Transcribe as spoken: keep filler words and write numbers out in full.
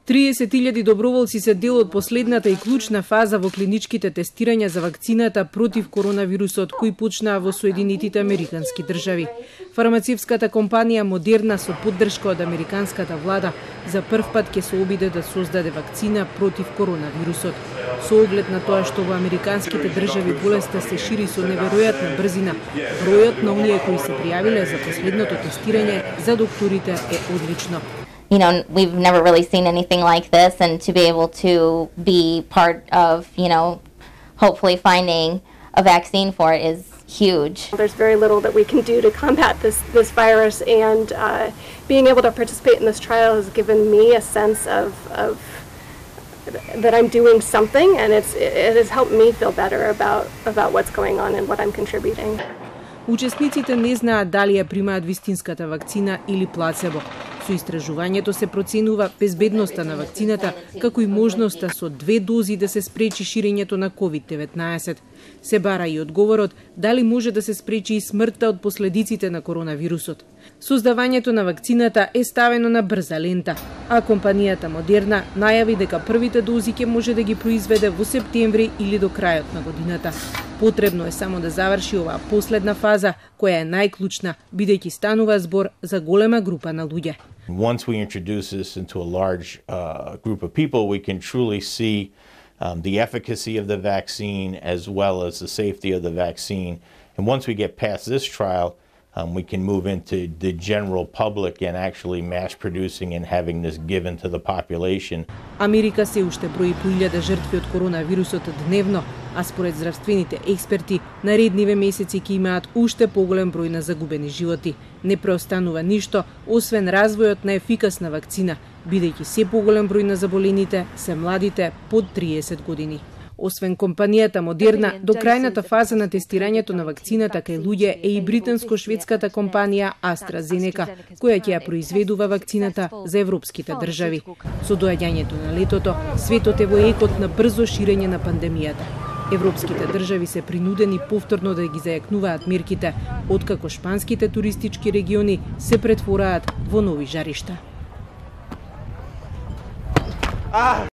триесет илјади доброволци се дел од последната и клучна фаза во клиничките тестирања за вакцината против коронавирусот кои почнаа во Соединетите Американски држави. Фармацевската компанија Модерна со поддршка од американската влада за прв пат ќе се обиде да создаде вакцина против коронавирусот. Со оглед на тоа што во американските држави болеста се шири со неверојатна брзина, бројот на оние кои се пријавиле за последното тестирање за докторите е одлично. You know, we've never really seen anything like this, and to be able to be part of, you know, hopefully finding a vaccine for it is huge. There's very little that we can do to combat this this virus, and uh, being able to participate in this trial has given me a sense of, of that I'm doing something, and it's it has helped me feel better about about what's going on and what I'm contributing. Учесниците не знаат дали ја примаат вистинската вакцина или плацебо. Со истражувањето се проценува безбедноста на вакцината, како и можноста со две дози да се спречи ширењето на ковид деветнаесет. Се бара и одговорот дали може да се спречи и смртта од последиците на коронавирусот. Создавањето на вакцината е ставено на брза лента, а компанијата Модерна најави дека првите дози ќе може да ги произведе во септември или до крајот на годината. Потребно е само да заврши оваа последна фаза, која е најклучна, бидејќи станува збор за голема група на луѓе. Once we introduce this into a large uh, group of people, we can truly see um, the efficacy of the vaccine as well as the safety of the vaccine. And once we get past this trial, um, we can move into the general public and actually mass producing and having this given to the population. Америка се уште брои по илјада жртви од коронавирусот дневно, а според здравствените експерти, наредниве месеци ќе имаат уште поголем број на загубени животи. Не преостанува ништо, освен развојот на ефикасна вакцина, бидејќи се поголем број на заболените се младите под триесет години. Освен компанијата Модерна, до крајната фаза на тестирањето на вакцината кај луѓе е и британско-шведската компанија AstraZeneca, која ќе ја произведува вакцината за европските држави. Со доаѓањето на летото, светот е во екот на брзо ширење на пандемијата. Европските држави се принудени повторно да ги зајакнуваат мерките, откако шпанските туристички региони се претвораат во нови жаришта.